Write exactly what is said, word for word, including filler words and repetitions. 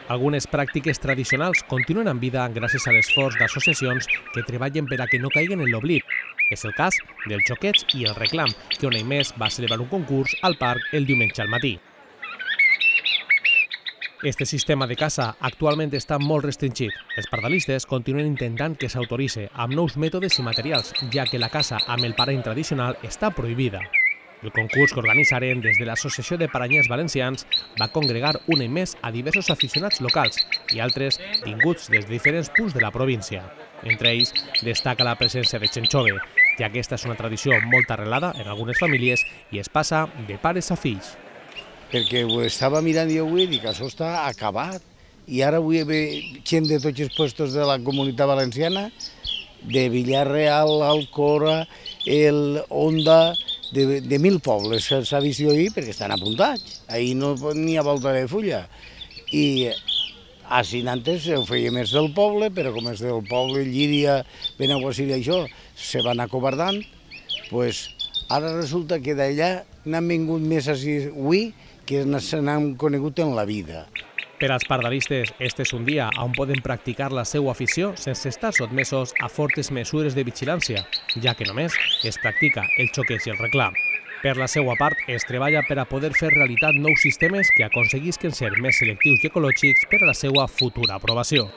Algunes pràctiques tradicionals continuen en vida gràcies a l'esforç d'associacions que treballen per a que no caiguen en l'oblit. És el cas del Xoqueig i el Reclam, que un any més va celebrar un concurs al parc el diumenge al matí. Este sistema de caça actualment està molt restringit. Els pardalistes continuen intentant que s'autoritzi amb nous mètodes i materials, ja que la caça amb el parany tradicional està prohibida. El concurs que organitzaren des de l'Associació de Paranyers Valencians va congregar un any més a diversos aficionats locals i altres vinguts des de diferents punts de la província. Entre ells destaca la presència de gent jove, ja que aquesta és una tradició molt arrelada en algunes famílies i es passa de pares a fills. Perquè ho estava mirant i avui i dic, això està acabat. I ara avui ve gent de tots els puestos de la Comunitat Valenciana, de Villarreal, Alcora, el Onda, de, de mil pobles s'ha vist ahir perquè estan apuntats. Ahir no n'hi ha volta de fulla. I així antes ho feia més del poble, però com és del poble, Llíria, Benaguasil i això, se van acobardant, pues ara resulta que d'allà n'han vingut més així avui que se n'han conegut en la vida. Per als pardalistes, este és un dia on poden practicar la seva afició sense estar sotmesos a fortes mesures de vigilància, ja que només es practica el xoqueig i el reclam. Per la seva part, es treballa per a poder fer realitat nous sistemes que aconseguisquen ser més selectius i ecològics per a la seva futura aprovació.